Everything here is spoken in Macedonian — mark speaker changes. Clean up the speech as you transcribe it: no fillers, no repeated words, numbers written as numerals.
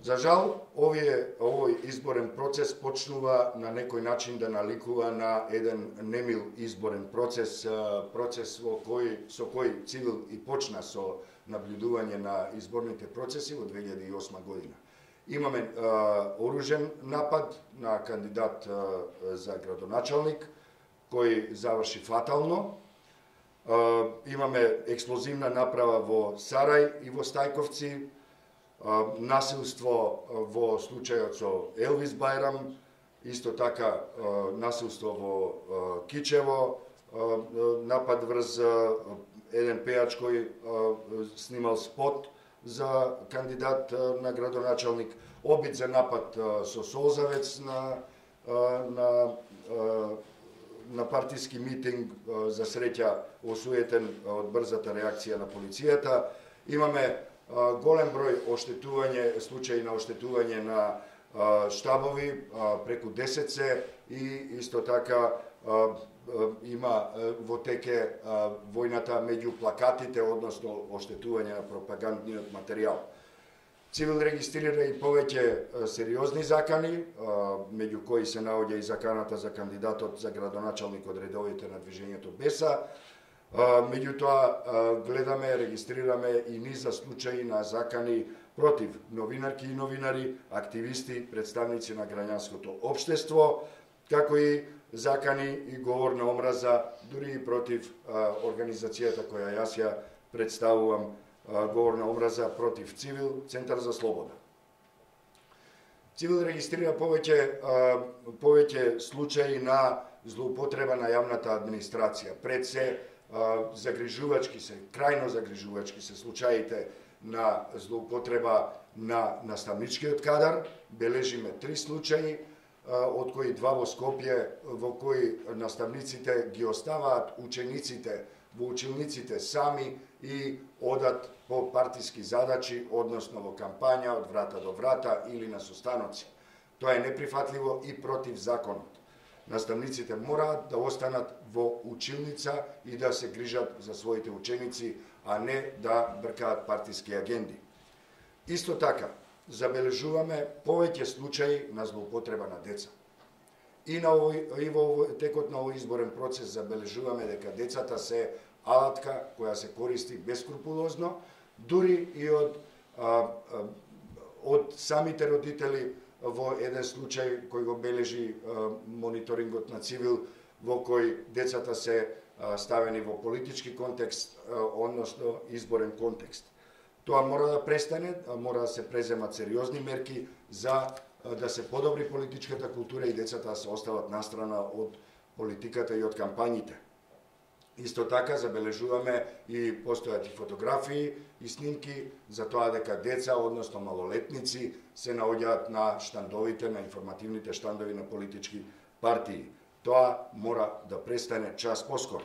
Speaker 1: За жал, овој изборен процес почнува на некој начин да наликува на еден немил изборен процес, процес со кој Цивил и почна со наблюдување на изборните процеси во 2008 година. Имаме оружен напад на кандидат за градоначалник, кој заврши фатално. Имаме експлозивна направа во Сарај и во Стајковци, насилство во случајот со Елвис Бајрам, исто така насилство во Кичево, напад врз еден пејач кој снимал спот за кандидат на градоначалник, обид за напад со солзавец на партиски митинг, за среќа осуетен од брзата реакција на полицијата. Имаме голем број случаи на оштетување на штабови, преку 10 се, и исто така има во теке војната меѓу плакатите, односно оштетување на пропагандниот материјал. Цивил регистрира и повеќе сериозни закани, меѓу кои се наоѓа и заканата за кандидатот за градоначалник од редовите на движењето Беса. Меѓутоа, гледаме, регистрираме и низа случаи на закани против новинарки и новинари, активисти, представници на граѓанското општество, како и закани и говор на омраза, дури и против организацијата која јас ја представувам, говор на омраза против Цивил, Центар за слобода. Цивил регистрира повеќе случаи на злоупотреба на јавната администрација. Пред се крајно загрижувачки се случаите на злоупотреба на наставничкиот кадар. Бележиме 3 случаи, од кои 2 во Скопје, во кои наставниците ги оставаат учениците во училниците сами и одат по партиски задачи, односно во кампања од врата до врата или на состаноци. Тоа е неприфатливо и против законот. Наставниците мораат да останат во училница и да се грижат за своите ученици, а не да бркаат партиски агенди. Исто така, забележуваме повеќе случаи на злоупотреба на деца. И во текот на овој изборен процес забележуваме дека децата се алатка која се користи бескрупулозно, дури и од самите родители, во еден случај кој го бележи мониторингот на Цивил, во кој децата се ставени во политички контекст, односно изборен контекст. Тоа мора да престане, мора да се преземат сериозни мерки за да се подобри политичката култура и децата да се остават настрана од политиката и од кампањите. Исто така забележуваме и постојат и фотографии и снимки за тоа дека деца, односно малолетници, се наоѓаат на штандовите, на информативните штандови на политички партии. Тоа мора да престане час поскоро.